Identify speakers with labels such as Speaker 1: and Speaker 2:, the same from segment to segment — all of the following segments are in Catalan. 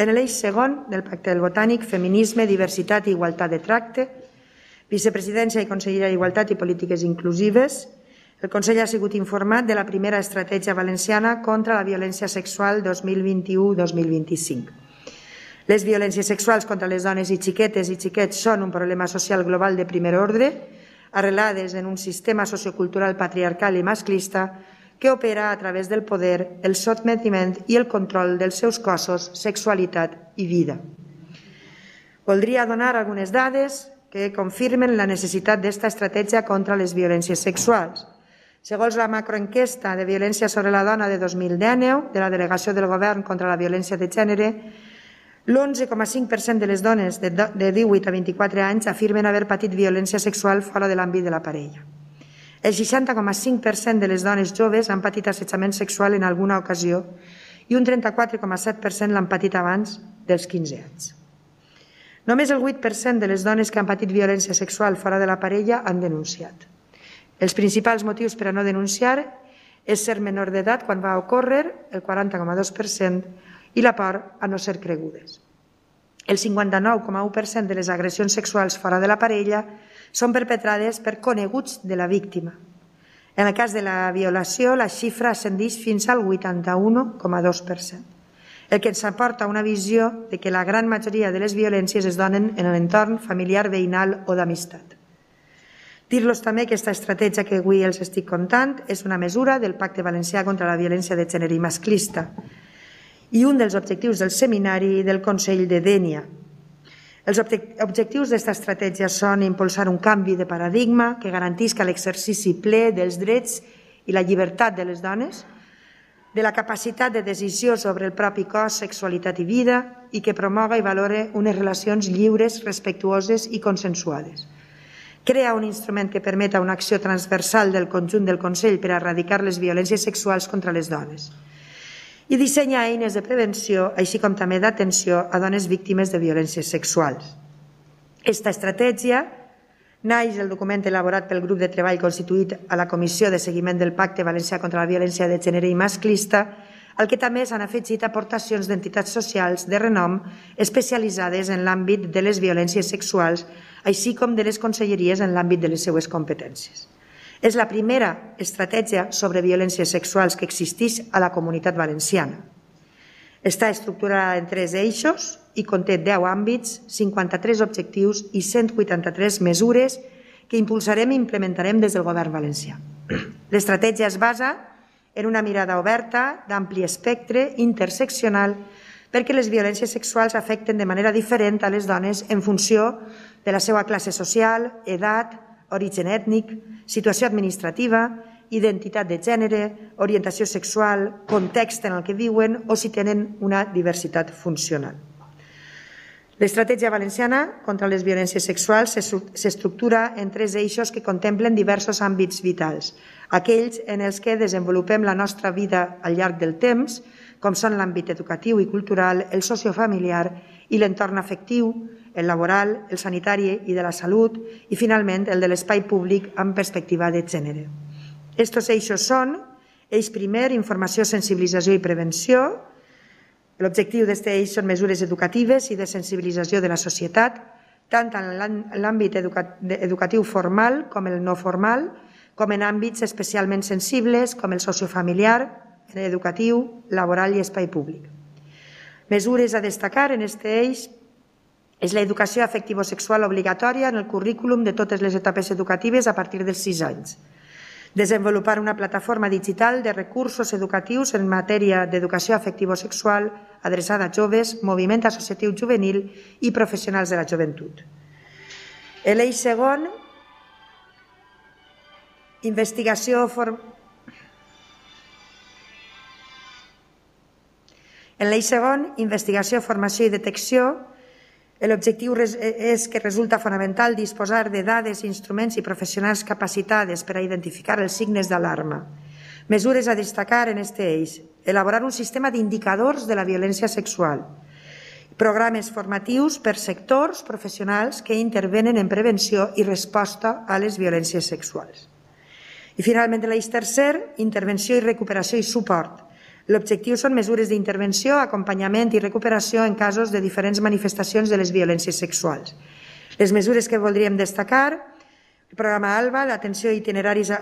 Speaker 1: En l'eix segon del Pacte del Botànic, feminisme, diversitat i igualtat de tracte, vicepresidència i conselleria d'Igualtat i Polítiques Inclusives, el Consell ha sigut informat de la primera estratègia valenciana contra la violència sexual 2021-2025. Les violències sexuals contra les dones i xiquetes i xiquets són un problema social global de primer ordre, arrelades en un sistema sociocultural patriarcal i masclista que opera a través del poder, el sotmetiment i el control dels seus cossos, sexualitat i vida. Voldria donar algunes dades que confirmen la necessitat d'esta estratègia contra les violències sexuals. Segons la macroenquesta de violència sobre la dona de 2019 de la Delegació del Govern contra la Violència de Gènere, l'11,5% de les dones de 18 a 24 anys afirmen haver patit violència sexual fora de l'àmbit de la parella. El 60,5% de les dones joves han patit assetjament sexual en alguna ocasió i un 34,7% l'han patit abans dels 15 anys. Només el 8% de les dones que han patit violència sexual fora de la parella han denunciat. Els principals motius per a no denunciar és ser menor d'edat quan va ocórrer, el 40,2%, i la por a no ser cregudes. El 59,1% de les agressions sexuals fora de la parella són perpetrades per coneguts de la víctima. En el cas de la violació, la xifra ascendeix fins al 81,2%, el que ens aporta una visió de que la gran majoria de les violències es donen en l'entorn familiar, veïnal o d'amistat. Dir-los també que aquesta estratègia que avui els estic contant és una mesura del Pacte Valencià contra la Violència de Gènere i Masclista i un dels objectius del seminari del Consell de Dénia. Els objectius d'esta estratègia són impulsar un canvi de paradigma que garantisca l'exercici ple dels drets i la llibertat de les dones, de la capacitat de decisió sobre el propi cos, sexualitat i vida i que promoga i valore unes relacions lliures, respectuoses i consensuades. Crea un instrument que permeta una acció transversal del conjunt del Consell per a erradicar les violències sexuals contra les dones i dissenya eines de prevenció, així com també d'atenció a dones víctimes de violències sexuals. Esta estratègia naix del document elaborat pel grup de treball constituït a la Comissió de Seguiment del Pacte Valencià contra la Violència de Gènere i Masclista, al que també s'han afegit aportacions d'entitats socials de renom especialitzades en l'àmbit de les violències sexuals, així com de les conselleries en l'àmbit de les seues competències. És la primera estratègia sobre violències sexuals que existeix a la Comunitat Valenciana. Està estructurada en 3 eixos i conté 10 àmbits, 53 objectius i 183 mesures que impulsarem i implementarem des del Govern valencià. L'estratègia es basa en una mirada oberta, d'ampli espectre, interseccional, perquè les violències sexuals afecten de manera diferent a les dones en funció de la seva classe social, edat, origen ètnic, situació administrativa, identitat de gènere, orientació sexual, context en el que viuen o si tenen una diversitat funcional. L'estratègia valenciana contra les violències sexuals s'estructura en 3 eixos que contemplen diversos àmbits vitals, aquells en els que desenvolupem la nostra vida al llarg del temps, com són l'àmbit educatiu i cultural, el sociofamiliar i l'entorn afectiu, el laboral, el sanitari i de la salut i, finalment, el de l'espai públic amb perspectiva de gènere. Estos eixos són: eix primer, informació, sensibilització i prevenció. L'objectiu d'aquest eix són mesures educatives i de sensibilització de la societat, tant en l'àmbit educatiu formal com el no formal, com en àmbits especialment sensibles com el sociofamiliar, educatiu, laboral i espai públic. Mesures a destacar en aquest eix és l'educació afectivo-sexual obligatòria en el currículum de totes les etapes educatives a partir dels 6 anys. Desenvolupar una plataforma digital de recursos educatius en matèria d'educació afectivo-sexual adreçada a joves, moviment associatiu juvenil i professionals de la joventut. L'eix segon, investigació, formació i detecció. L'objectiu és que resulta fonamental disposar de dades, instruments i professionals capacitades per a identificar els signes d'alarma. Mesures a destacar en aquest eix: elaborar un sistema d'indicadors de la violència sexual, programes formatius per sectors professionals que intervenen en prevenció i resposta a les violències sexuals. I finalment l'eix tercer, intervenció i recuperació i suport, L'objectiu són mesures d'intervenció, acompanyament i recuperació en casos de diferents manifestacions de les violències sexuals. Les mesures que voldríem destacar: el programa ALBA, l'atenció a itineraris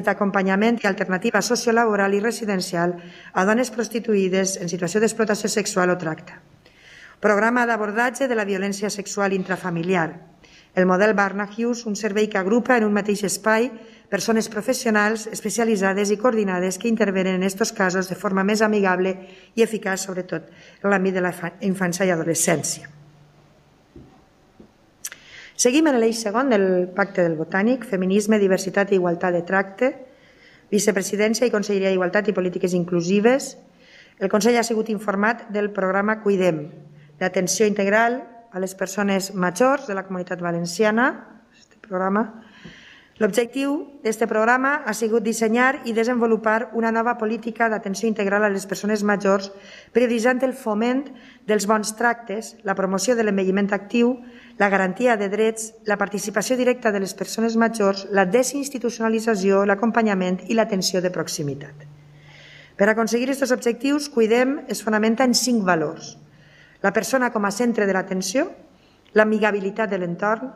Speaker 1: d'acompanyament i alternativa sociolaboral i residencial a dones prostituïdes en situació d'explotació sexual o tracte. Programa d'abordatge de la violència sexual intrafamiliar. El model Barnahus, un servei que agrupa en un mateix espai persones professionals especialitzades i coordinades que intervenen en aquests casos de forma més amigable i eficaç, sobretot en l'àmbit de la infància i adolescència. Seguim en l'eix segon del Pacte del Botànic, Feminisme, Diversitat i Igualtat de Tracte, Vicepresidència i Conselleria d'Igualtat i Polítiques Inclusives. El Consell ha sigut informat del programa Cuidem, d'atenció integral a les persones majors de la Comunitat Valenciana. L'objectiu d'aquest programa ha sigut dissenyar i desenvolupar una nova política d'atenció integral a les persones majors, prioritzant el foment dels bons tractes, la promoció de l'envelliment actiu, la garantia de drets, la participació directa de les persones majors, la desinstitucionalització, l'acompanyament i l'atenció de proximitat. Per aconseguir aquests objectius, Cuidem es fonamenta en 5 valors: la persona com a centre de l'atenció, l'amigabilitat de l'entorn,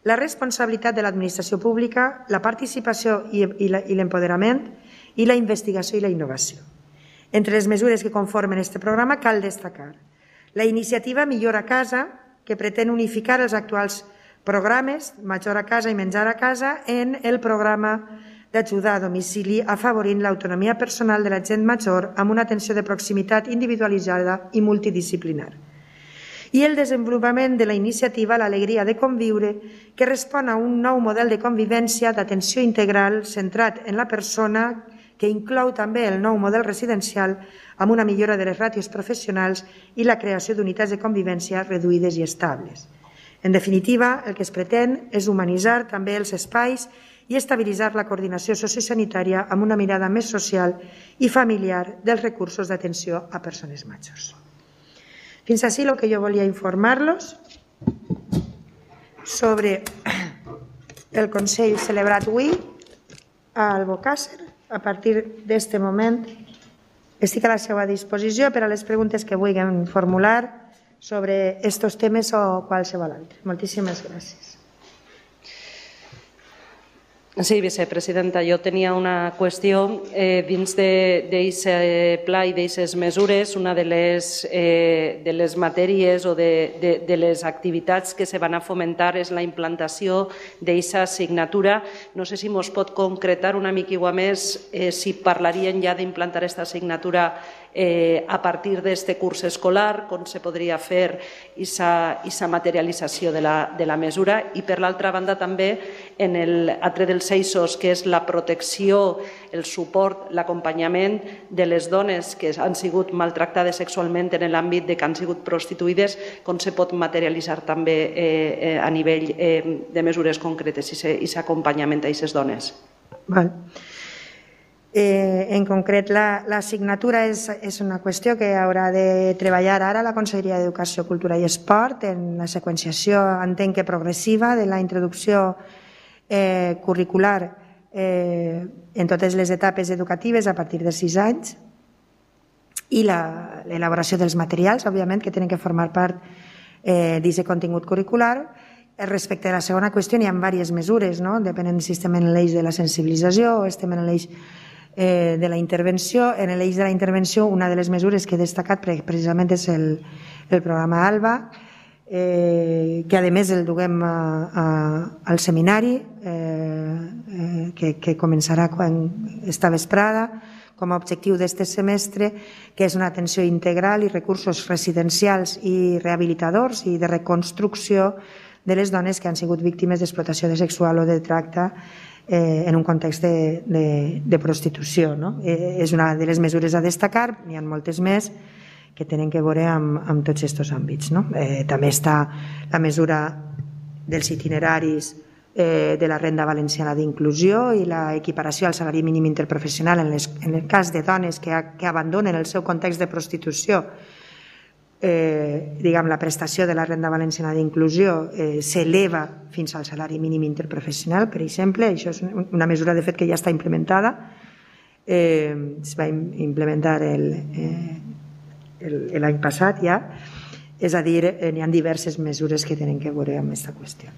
Speaker 1: la responsabilitat de l'administració pública, la participació i l'empoderament i la investigació i la innovació. Entre les mesures que conformen aquest programa cal destacar la iniciativa Millor a Casa, que pretén unificar els actuals programes Major a Casa i Menjar a Casa en el programa d'ajuda a domicili, afavorint l'autonomia personal de la gent major amb una atenció de proximitat individualitzada i multidisciplinar. I el desenvolupament de la iniciativa L'Alegria de Conviure, que respon a un nou model de convivència d'atenció integral centrat en la persona, que inclou també el nou model residencial amb una millora de les ràtios professionals i la creació d'unitats de convivència reduïdes i estables. En definitiva, el que es pretén és humanitzar també els espais i estabilitzar la coordinació sociosanitària amb una mirada més social i familiar dels recursos d'atenció a persones majors. Fins així el que jo volia informar-los sobre el Consell celebrat avui a Albocàsser. A partir d'aquest moment estic a la seva disposició per a les preguntes que vulguin formular sobre aquests temes o qualsevol altre. Moltíssimes gràcies.
Speaker 2: Sí, vicepresidenta, jo tenia una qüestió dins d'aquest pla i d'aquestes mesures. Una de les matèries o de les activitats que se van a fomentar és la implantació d'aquesta assignatura. No sé si ens pot concretar una mica més si parlarien ja d'implantar aquesta assignatura a partir d'aquest curs escolar, com se podria fer aquesta materialització de la mesura. I per l'altra banda també en l'altre dels eixos, que és la protecció, el suport, l'acompanyament de les dones que han sigut maltractades sexualment en l'àmbit de que han sigut prostituïdes, com se pot materialitzar també a nivell de mesures concretes i aquest acompanyament a aquestes dones.
Speaker 1: En concret, l'assignatura és una qüestió que haurà de treballar ara la Conselleria d'Educació, Cultura i Esport en la seqüenciació, entenc que progressiva, de la introducció curricular en totes les etapes educatives a partir de 6 anys i l'elaboració dels materials, òbviament, que tenen que formar part d'aquest contingut curricular. Respecte a la segona qüestió, hi ha diverses mesures, depenent si estem en l'eix de la sensibilització o estem en l'eix de la intervenció. En l'eix de la intervenció, una de les mesures que he destacat precisament és el programa ALBA, que a més el duguem al seminari, que començarà esta vesprada, com a objectiu d'aquest semestre, que és una atenció integral i recursos residencials i rehabilitadors i de reconstrucció de les dones que han sigut víctimes d'explotació sexual o de tracte en un context de prostitució. És una de les mesures a destacar, n'hi ha moltes més que tenen que veure amb tots aquests àmbits. També està la mesura dels itineraris de la renda valenciana d'inclusió i l'equiparació al salari mínim interprofessional en el cas de dones que abandonen el seu context de prostitució. La prestació de la renda valenciana d'inclusió s'eleva fins al salari mínim interprofessional, per exemple. Això és una mesura, de fet, que ja està implementada es va implementar l'any passat ja, és a dir, hi ha diverses mesures que tenen que veure amb aquesta qüestió.